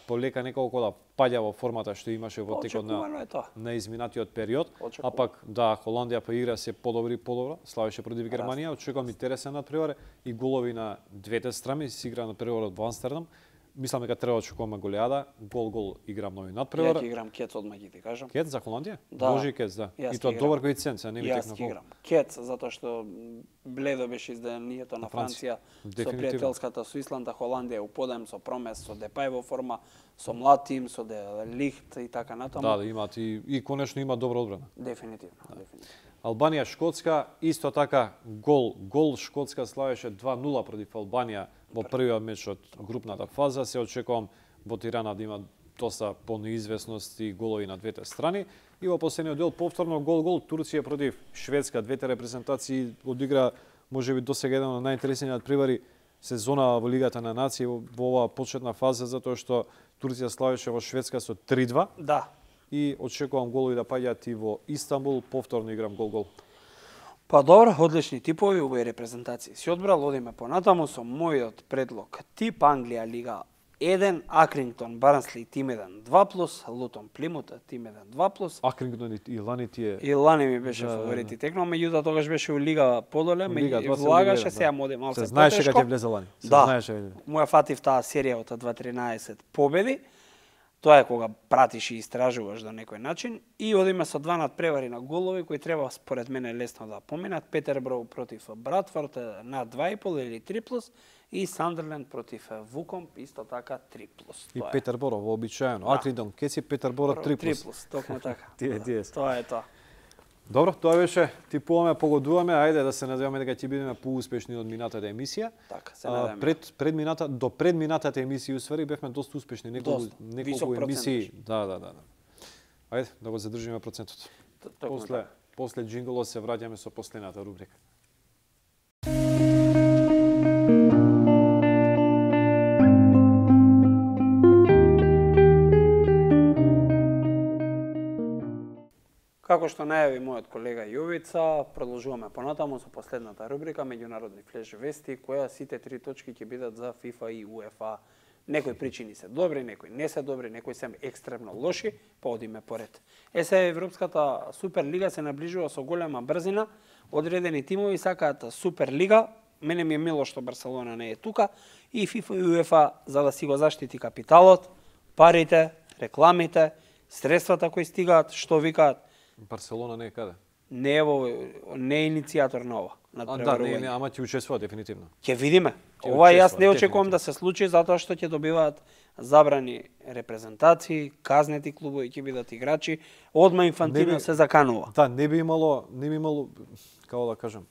S1: полека неколку да паѓа во формата што имаше во текот на, на изминатиот период. А пак, да, Холандија па игра се подобри подобро, славеше против Германија. Очекувам интересен надпревар и голови на двете страни, се игра на преварот во Амстердам. Мислам дека треба да очекуваме голеада, гол-гол играм нови надпревар.
S2: Ја ќе играм Кец одма ги ти кажам.
S1: Кец за Холандија?
S2: Да.
S1: Може и Кец, да. И тоа добар коефициент, се не ми текна
S2: гол. Кец затоа што бледо беше изданието на Франција со пријателската со Исланда, Холандија у подем со Промес, со Депај во форма, со млад тим, со Де Лихт и така натаму.
S1: Да, да имаат и, и конечно има добра одбрана.
S2: Дефинитивно, да. Дефинитивно.
S1: Албанија Шкотска исто така гол, гол Шкотска славеше два нула против Албанија во првиот меч од групната фаза. Се очекувам во Тирана да има доста понеизвестност и голови на двете страни. И во последниот дел повторно гол-гол Турција против Шведска. Двете репрезентации одигра можеби досега еден од најинтересниот превари сезона во Лигата на нации во оваа почетна фаза, затоа што Турција славеше во Шведска со три два.
S2: Да.
S1: И очекувам голови да паѓаат и во Истанбул, повторно играм гол-гол.
S2: Па добро, одлични типови овој репрезентации. Си одбрал, одиме понатаму со мојот предлог. Тип Англија Лига еден, Акрингтон Барнсли тим еден два плюс, Лутон Плимут тим еден два плюс.
S1: Акрингтон и Лани тие.
S2: И Лани ми беше да, фаворити текнал, меѓутоа тогаш беше у Лига подоле, меѓу влагаше сега моде малку потешко.
S1: Се знаеше кога ќе влезе Лани.
S2: Се да, знаеше. Моја фатив таа серија од два тринаесет победи. Тоа е кога пратиш и истражуваш до некој начин. И одиме со два надпревари на голови кои треба според мене лесно да поминат. Петерброу против Братфорд на два и пол или три плюс и Сандерленд против Вукомп исто така три плюс.
S1: И Петерборо вообичаено. Да. Акридон, Кеци Петерборо три плюс.
S2: три плюс, токму така.
S1: Тие, тие.
S2: Тоа е тоа.
S1: Добро, тоа беше типуваме, погодуваме, ајде да се надеваме дека ќе бидеме поуспешни од минатата емисија.
S2: Така, се надеваме.
S1: Пред пред мината до пред минатата емисија усвари бевме доста успешни, неколку неколку емисии. Да, да, да, да. Ајде да го задржиме процентот. После после џинголот се враќаме со последната рубрика.
S2: Како што најави мојот колега Јовица, продолжуваме понатаму со последната рубрика меѓународни флеш вести, која сите три точки ќе бидат за ФИФА и УЕФА. Некои причини се добри, некои не се добри, некои се екстремно лоши, па одиме поред. Е се Европската Суперлига се наближува со голема брзина, одредени тимови сакаат Суперлига, мене ми е мило што Барселона не е тука, и ФИФА и УЕФА за да си го заштити капиталот, парите, рекламите, средствата кои стигаат, што викаат.
S1: Барселона не е каде?
S2: Не е во не е иницијатор на ова.
S1: На да, не, не, ама ќе учествува дефинитивно.
S2: Ќе видиме. Ова јас не очекувам да се случи затоа што ќе добиваат забрани репрезентации, казнети клубови ќе бидат играчи, одма Инфантино се заканува.
S1: Да, не би имало, не би имало, како да кажам,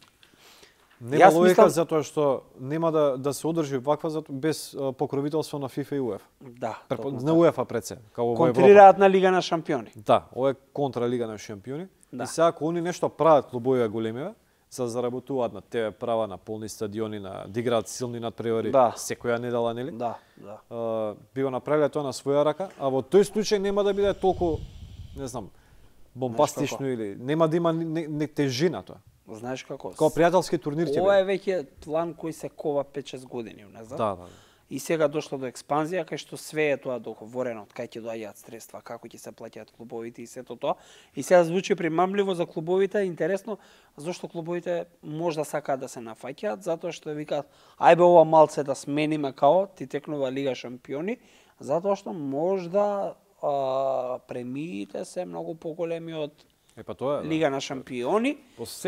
S1: нема логика мислам... затоа што нема да да се одржи ваква затоа без покровителство на ФИФА и УЕФА.
S2: Да.
S1: Препо, на УЕФА пред се, како во Европа.
S2: Контрираат на Лига на шампиони.
S1: Да, ова е контра Лига на шампиони.
S2: Да.
S1: И сега ако они нешто прават клубовија големиве, за заработуваат на тебе права на полни стадиони, на да играат силни надпревари
S2: да.
S1: секоја недела, нели?
S2: Да, да.
S1: Uh, би го направиле тоа на своја рака, а во тој случај нема да биде толку, не знам, бомбастично или нема да има не, не тежина тоа.
S2: Знаеш како?
S1: Како пријателски турнир ќе биде.
S2: Ова е веќе план кој се кова пет шест години, не знам.
S1: Да, да.
S2: и сега дошло до експанзија, кај што све е тоа договорено, од кај ќе доаѓаат средства, како ќе се плаќаат клубовите и сето тоа. И сега звучи примамливо за клубовите, интересно зошто клубовите можда сакаат да се нафаќаат, затоа што викаат ајбе ова малце да смениме као ти текнува Лига шампиони, затоа што можда а, премиите се многу поголеми од
S1: Е, па тоа е,
S2: Лига на шампиони.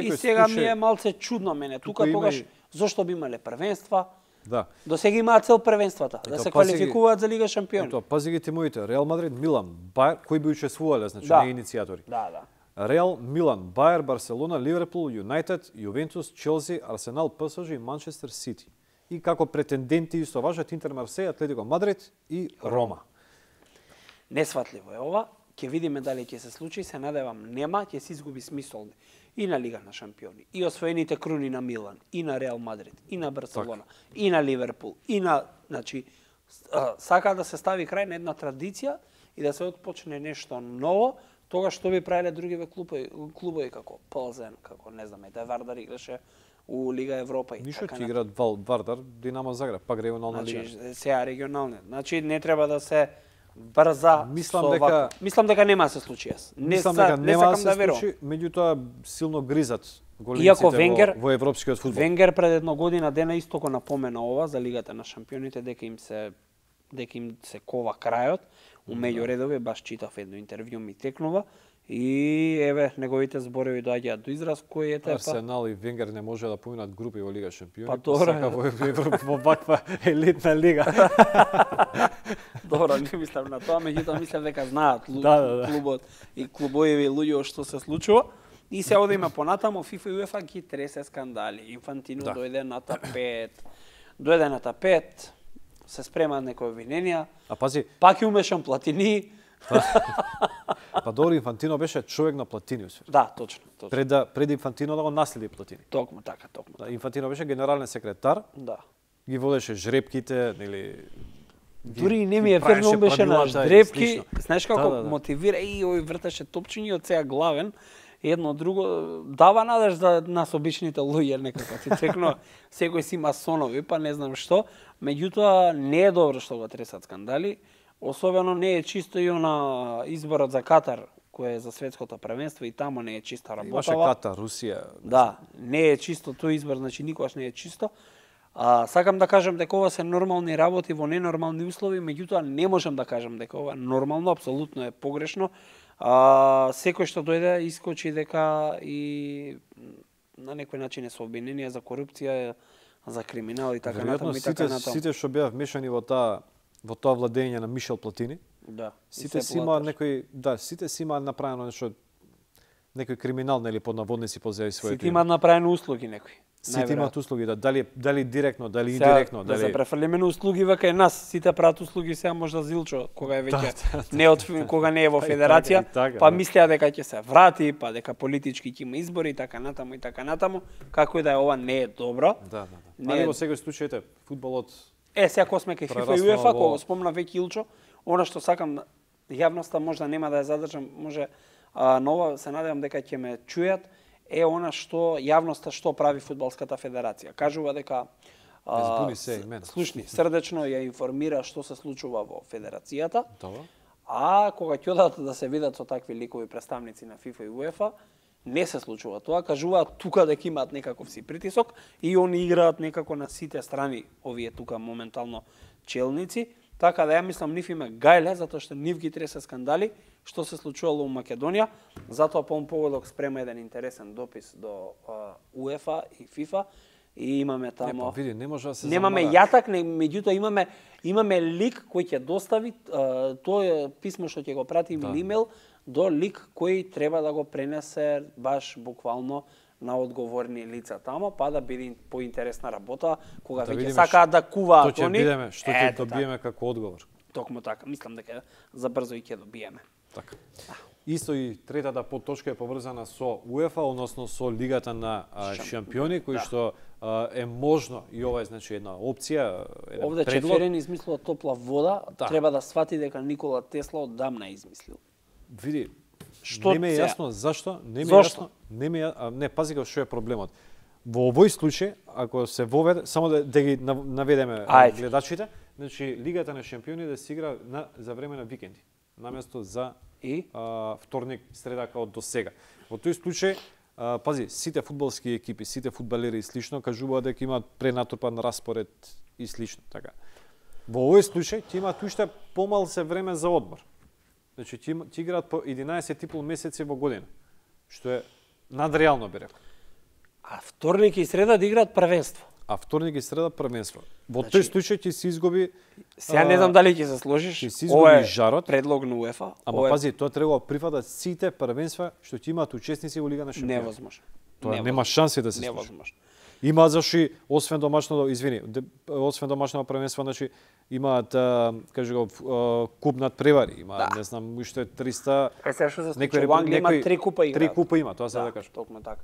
S1: И
S2: сега ми е малце чудно мене тука тогаш и... зошто би имале првенства.
S1: Да.
S2: До сега имаат цел првенствата, да се квалификуваат за Лига шампиони.
S1: Тоа пази ги тимовите, Реал Мадрид, Милан, Бајер, кои би учествувале, значи
S2: да.
S1: не иницијатори.
S2: Да, да.
S1: Реал, Милан, Бајер, Барселона, Ливерпул, Юнајтед, Јувентус, Челси, Арсенал, ПСЖ и Манчестер Сити. И како претенденти исто важат Интер, Марсеј, Атлетико Мадрид и Рома.
S2: Несватливо е ова. Ќе видиме дали ќе се случи, се надевам нема, ќе се изгуби смисол и на Лига на шампиони, и освоените круни на Милан, и на Реал Мадрид, и на Барселона, так. и на Ливерпул, и на, значи, сака да се стави крај на една традиција и да се отпочне нешто ново, тога што би правиле другиве клубови, клубови како Ползен, како не знам, да Вардар играше у Лига Европа и
S1: Ништо
S2: така.
S1: Ништо ќе играат Вардар, Динамо Загреб, пак регионална
S2: значи,
S1: лига.
S2: Значи, сега регионална. Значи, не треба да се брза
S1: мислам
S2: со
S1: дека
S2: вако. Мислам дека нема да се случи јас. Не
S1: мислам
S2: са,
S1: дека
S2: не
S1: нема да
S2: сакам
S1: се
S2: да верувам.
S1: случи, меѓутоа силно гризат големците
S2: Иако Венгер,
S1: во, во европскиот фудбал.
S2: Венгер пред една година дена исто го напомена ова за Лигата на шампионите, дека им се дека им се кова крајот. У меѓу редови баш читав едно интервју ми текнува и еве неговите зборови доаѓаат до израз кој е тепа.
S1: Арсенал и Венгер не може да поминат групи во Лига шампиони.
S2: Па добро,
S1: сака во Европа во ваква елитна лига.
S2: Добро, не мислам на тоа, меѓутоа мислам дека знаат лу...
S1: да, да, да.
S2: клубот и клубови луѓе што се случува. И се одиме понатамо, ФИФА и УЕФА ги тресе скандали. Инфантино да. дојде на тапет. Дојде на тапет, се спремаат некои обвиненија.
S1: А пази,
S2: пак и умешан Платини.
S1: Па добро, Инфантино беше човек на Платини.
S2: Да, точно, точно.
S1: Пред да пред Инфантино да го наследи Платини.
S2: Токму така, токму.
S1: Да, Инфантино беше генерален секретар.
S2: Да.
S1: Ги водеше жрепките, нели
S2: дури не ми е ферно беше на жрепки. Знаеш како да, да, да. мотивира и ој вртеше топчињи од сега главен. Едно друго дава надеж за нас обичните луѓе некако ти текно секој си масонови, па не знам што, меѓутоа не е добро што го тресат скандали, особено не е чисто и она изборот за Катар кој е за светското првенство и тамо не е чиста работа.
S1: Имаше Катар, Русија.
S2: Да, не е чисто тој избор, значи никогаш не е чисто. А, сакам да кажам дека ова се нормални работи во ненормални услови, меѓутоа не можам да кажам дека ова нормално, апсолутно е погрешно. А, секој што дојде искочи дека и на некој начин е со обвиненија за корупција, за криминал и така натаму и така натаму.
S1: Сите што беа вмешани во таа во тоа владење на Мишел Платини,
S2: да,
S1: сите си имаат некој, да, сите си имаат направено нешто, некој криминал нели под наводници под заради своето.
S2: Сите имаат направено услуги некои.
S1: Сите имаат услуги, да, дали дали директно, дали индиректно,
S2: дали
S1: да
S2: се префрлиме на услуги вака нас, сите прават услуги сега можда Зилчо кога е веќе
S1: да, да,
S2: не од кога не е во федерација,
S1: и така, и така,
S2: па
S1: да.
S2: мислеа дека ќе се врати, па дека политички ќе има избори и така натаму и така натаму, како и да е ова не е добро.
S1: Да, да, да.
S2: Не
S1: Али
S2: е...
S1: во секој случај фудбалот
S2: Е, сега кога сме кај ФИФА и УЕФА, во... кога спомна веќе Илчо, она што сакам јавноста можда нема да ја задржам, може а, нова се надевам дека ќе ме чујат, е она што јавноста што прави фудбалската федерација. Кажува дека
S1: а, се имена.
S2: Слушни, срдечно ја информира што се случува во федерацијата.
S1: Добро.
S2: А кога ќе одат да се видат со такви ликови представници на ФИФА и УЕФА, не се случува тоа, кажуваат тука дека имаат некаков си притисок и они играат некако на сите страни, овие тука моментално челници, така да ја мислам нив име гајле, затоа што нив ги тресе скандали, што се случувало во Македонија, затоа по поводок спрема еден интересен допис до uh, УЕФА и ФИФА и имаме тамо...
S1: Не, па види, не може да се
S2: Немаме
S1: замара.
S2: јатак, не, меѓутоа имаме имаме лик кој ќе достави uh, тоа писмо што ќе го прати да. имейл до лик кој треба да го пренесе баш буквално на одговорни лица тамо, па да биде поинтересна работа, кога да веќе сакаат да куваат
S1: они. Што ќе видиме, што ќе
S2: Ето,
S1: добиеме
S2: така.
S1: како одговор.
S2: Токму така, мислам дека за брзо и ќе добиеме.
S1: Така. Исто и третата подточка е поврзана со УЕФА, односно со Лигата на а, шампиони, кој да. што а, е можно и ова е значи една опција, еден
S2: Овде
S1: предлог.
S2: Чеферин измислува топла вода,
S1: да.
S2: треба да свати дека Никола Тесла оддамна измислил.
S1: Види,
S2: што
S1: не ми е
S2: сега?
S1: јасно зашто, не ми е
S2: Зошто?
S1: јасно, не ми е, а, не пази што е проблемот. Во овој случај, ако се воведе, само да, да ги наведеме
S2: Ајде.
S1: гледачите, значи Лигата на шампиони да се игра на за време на викенди, наместо за
S2: и
S1: а, вторник, среда како до сега. Во тој случај, а, пази, сите фудбалски екипи, сите фудбалери и слично кажуваат дека имаат пренатрпан распоред и слично, така. Во овој случај ти имаат уште помал се време за одмор. Значи ти, ти играат по единаесет и пол месеци во година, што е надреално, би рекол.
S2: А вторник и среда да играат првенство.
S1: А вторник и среда првенство. Во
S2: Значи,
S1: тој случај ти се изгуби.
S2: Сега не знам дали ќе се сложиш.
S1: Ти се изгуби жарот.
S2: Предлог на УЕФА.
S1: Ама пази, тоа треба да прифатат сите првенства што ти имаат учесници во Лига на шампиони.
S2: Невозможно.
S1: Тоа нема шанси да се случи.
S2: Невозможно.
S1: Има заши освен домашното, извини, освен домашното првенство, значи имаат, кажи го, куп над превари, има,
S2: да.
S1: Не знам, уште триста.
S2: Е сега што се случи, во Англија има три купа играат.
S1: Три купа има, тоа се да, да кажам.
S2: Токму така.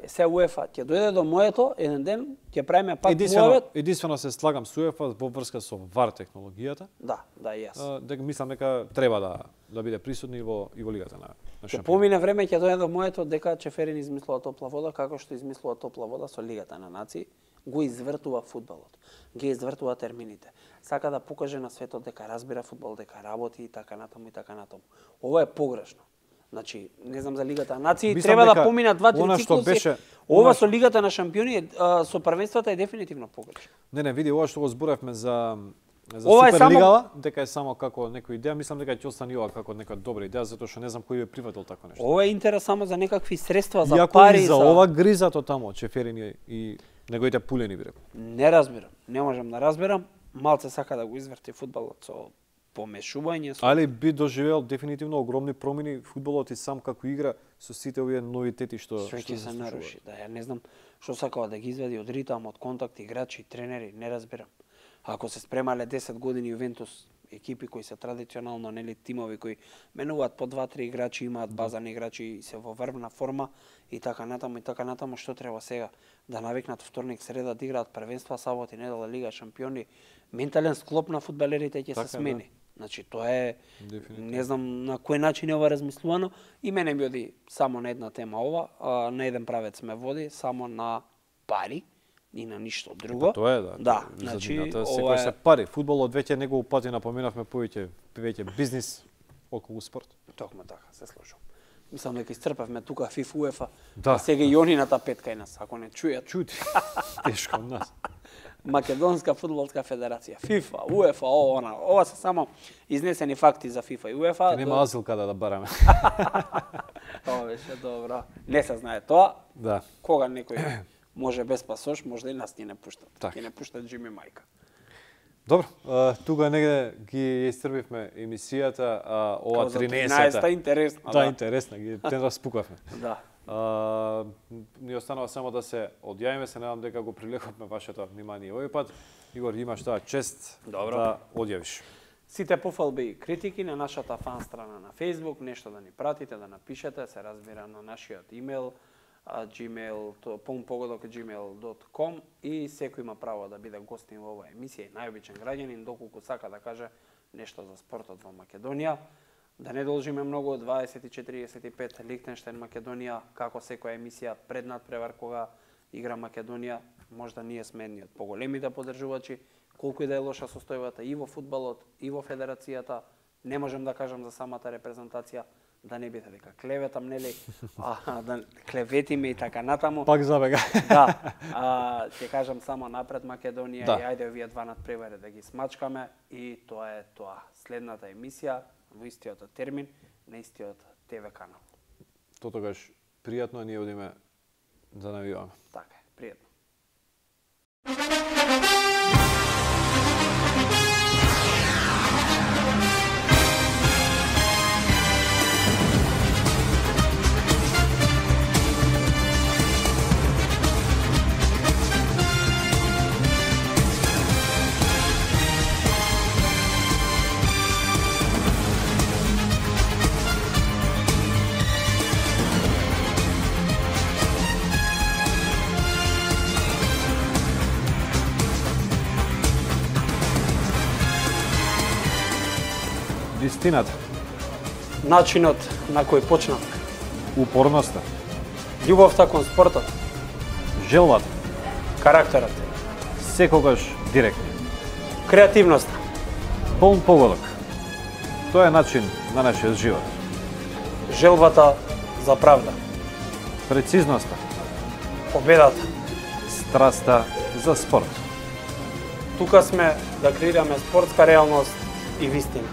S2: Е се УЕФА ќе дојде до моето еден ден, ќе правиме пак
S1: единствено,
S2: муавет.
S1: Единствено се слагам со УЕФА во врска со вар технологијата.
S2: Да, да, и јас.
S1: Дека мислам дека треба да да биде присутни во и во лигата на на
S2: шампиони. Ќе помине време ќе дојде до моето дека Чеферин измислува топла вода, како што измислува топла вода со Лигата на нации, го извртува фудбалот. Ги извртува термините. Сака да покаже на светот дека разбира фудбал, дека работи и така натаму и така натаму. Ова е погрешно. Значи, не знам за Лигата на нации,
S1: мислам
S2: треба да
S1: дека
S2: поминат два-три циклуси.
S1: Беше,
S2: ова
S1: она...
S2: со Лигата на шампиони, а, со првенствата е дефинитивно погрешно.
S1: Не, не, види, ова што го зборевме за за
S2: ова
S1: Суперлигава,
S2: само...
S1: дека е само како некоја идеја, мислам дека ќе остане ова како нека добра идеја, затоа што не знам кој е привател такво нешто.
S2: Ова е интерес само за некакви средства, за
S1: Иако
S2: пари,
S1: и за,
S2: за
S1: ова гризато тамо, Чеферин и неговите пулени би рекол.
S2: Не разбирам, не можам да разберам, малце сака да го изверти фудбалот со помешување со...
S1: Али би доживеал дефинитивно огромни промени фудбалот и сам како игра со сите овие новитети што
S2: што ќе се наруши. Да, ја не знам што сакава да ги извади од ритам, од контакт, играчи, тренери, не разбирам. Ако се спремале десет години Јувентус, екипи кои се традиционално, нели, тимови кои менуваат по два-три играчи, имаат базани играчи и се во врвна форма и така натаму и така натаму, што треба сега да навикнат вторник, среда да играат првенства, сабота и недела Лига шампиони, ментален склоп на фудбалерите ќе
S1: така,
S2: се смени. Да. Значи тоа е
S1: дефинитивно.
S2: Не знам на кој начин е ова размислувано и мене ми оди само на една тема ова, а, на еден правец ме води само на пари и на ништо друго.
S1: Па, тоа е, да.
S2: Да, значи
S1: секој се пари. Фудбалот веќе неколку пати напоменавме повеќе веќе бизнис околу спорт.
S2: Токму така, се слушам. Мислам дека исцрпавме тука ФИФА, УЕФА,
S1: да.
S2: А сега и онината петка и нас, ако не чујат.
S1: Чути. Тешко од нас.
S2: Македонска фудбалска федерација, ФИФА, УЕФА, ова, она. Ова се само изнесени факти за ФИФА и УЕФА.
S1: Нема азил каде да бараме.
S2: Тоа беше добро. Не се знае тоа.
S1: Да.
S2: Кога некој може без пасош, може и нас ни не пуштат.
S1: Так.
S2: Ќе не пуштат Джими Мајка.
S1: Добро, а, тука негде ги истрбивме емисијата, а, ова тринаесета.
S2: интересна,
S1: да. Да, интересна, ги тен распукавме.
S2: Да.
S1: А, ни останува само да се одјавиме, се надам дека го привлековме вашето внимание овој пат. Игор, имаш таа чест
S2: Добро.
S1: Да одјавиш.
S2: Сите пофалби и критики на нашата фан страна на Facebook, нешто да ни пратите, да напишете, се разбира на нашиот имейл, gmail, пунпогодок gmail dot com и секој има право да биде гостин во оваа емисија и најобичен граѓанин, доколку сака да каже нешто за спортот во Македонија. Да не должиме многу, дваесет и четири тридесет и пет Лихтенштейн Македонија, како секоја емисија пред надпревар кога игра Македонија, можда ние сме едни од поголемите поддржувачи, колку и да е лоша состојбата и во фудбалот, и во федерацијата, не можам да кажам за самата репрезентација, да не биде дека клеветам, нели, а, да клеветиме и така натаму.
S1: Пак забега.
S2: Да, а, ќе кажам само напред Македонија
S1: да.
S2: И ајде овие два надпревари да ги смачкаме и тоа е тоа. Следната емисија во истиот термин на истиот ТВ канал.
S1: Тотогаш пријатно, ние одиме да навиваме.
S2: Така е, пријатно.
S1: Вистината.
S2: Начинот на кој почнав.
S1: Упорноста.
S2: Љубовта кон спортот.
S1: Желбата.
S2: Карактерот.
S1: Секогаш директно.
S2: Креативноста.
S1: Полн погодок. Тоа е начин на нашиот живот.
S2: Желбата за правда.
S1: Прецизноста.
S2: Победата.
S1: Страста за спорт.
S2: Тука сме да креираме спортска реалност и вистина.